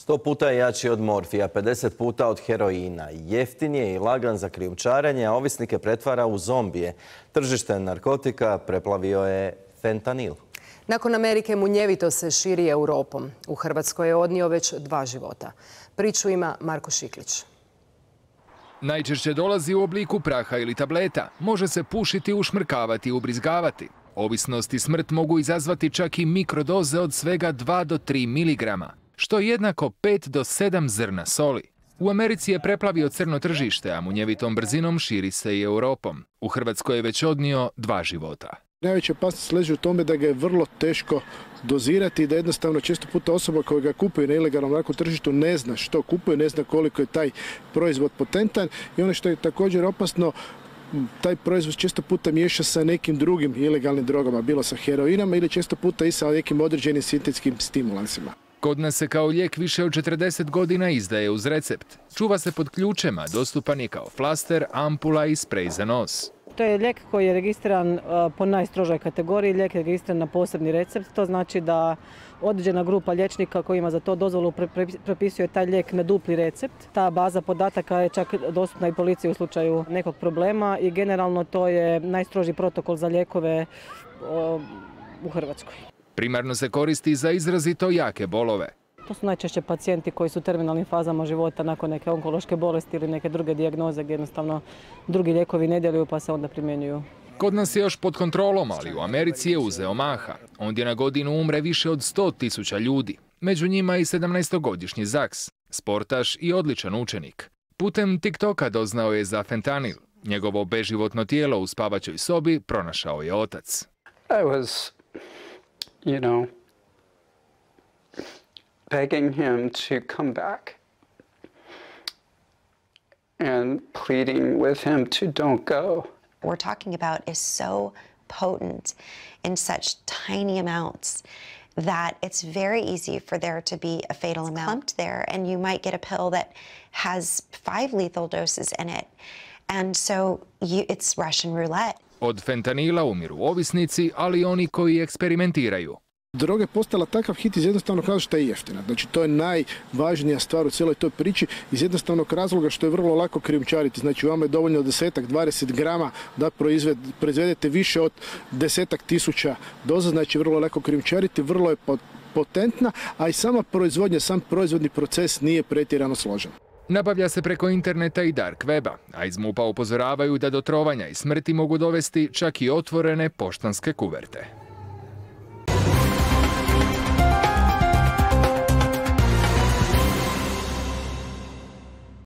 100 puta je jači od morfija, 50 puta od heroina. Jeftin je i lagan za krijumčarenje, a ovisnike pretvara u zombije. Tržište narkotika preplavio je fentanil. Nakon Amerike munjevito se širi Europom. U Hrvatskoj je odnio već 2 života. Priču ima Marko Šiklić. Najčešće dolazi u obliku praha ili tableta. Može se pušiti, ušmrkavati i ubrizgavati. Ovisnost i smrt mogu izazvati čak i mikrodoze od svega 2 do 3 miligrama, što je jednako 5 do 7 zrna soli. U Americi je preplavio crno tržište, a munjevitom brzinom širi se i Europom. U Hrvatskoj je već odnio 2 života. Najveća opasnost leži u tome da ga je vrlo teško dozirati i da jednostavno često puta osoba koja ga kupuje na ilegalnom narko tržištu ne zna što kupuje, ne zna koliko je taj proizvod potentan i ono što je također opasno, taj proizvod često puta miješa sa nekim drugim ilegalnim drogama, bilo sa heroinama ili često puta i sa nekim određenim sintetskim stimulansima. Kod nas se kao lijek više od 40 godina izdaje uz recept. Čuva se pod ključema, dostupan je kao flaster, ampula i sprej za nos. To je lijek koji je registriran po najstrožoj kategoriji, lijek je registriran na posebni recept. To znači da određena grupa liječnika koji ima za to dozvolu propisuje taj lijek na dupli recept. Ta baza podataka je čak dostupna i policiji u slučaju nekog problema i generalno to je najstrožiji protokol za lijekove u Hrvatskoj. Primarno se koristi za izrazito jake bolove. To su najčešće pacijenti koji su u terminalnim fazama života nakon neke onkološke bolesti ili neke druge dijagnoze gdje jednostavno drugi lijekovi ne djeluju pa se onda primjenjuju. Kod nas je još pod kontrolom, ali u Americi je uzeo maha. Ondje na godinu umre više od 100.000 ljudi. Među njima i 17-godišnji Zaks, sportaš i odličan učenik. Putem TikToka doznao je za fentanil. Njegovo beživotno tijelo u spavaćoj sobi pronašao je otac. Begging him to come back and pleading with him to don't go. We're talking about is so potent in such tiny amounts that it's very easy for there to be a fatal amount clumped there, and you might get a pill that has 5 lethal doses in it. And so it's Russian roulette. Od fentanila umiru ovisnici, ali i oni koji eksperimentiraju. Droga je postala takav hit iz jednostavnog razloga što je jeftina. Znači, to je najvažnija stvar u cijeloj toj priči iz jednostavnog razloga što je vrlo lako krijumčariti. Znači, vama je dovoljno 10-20 grama da proizvedete više od 10.000 doza. Znači, vrlo lako krijumčariti, vrlo je potentna, a i sama proizvodnja, sam proizvodni proces nije pretjerano složen. Nabavlja se preko interneta i dark weba, a iz MUP-a upozoravaju da do trovanja i smrti mogu dovesti čak i otvorene poštanske kuverte.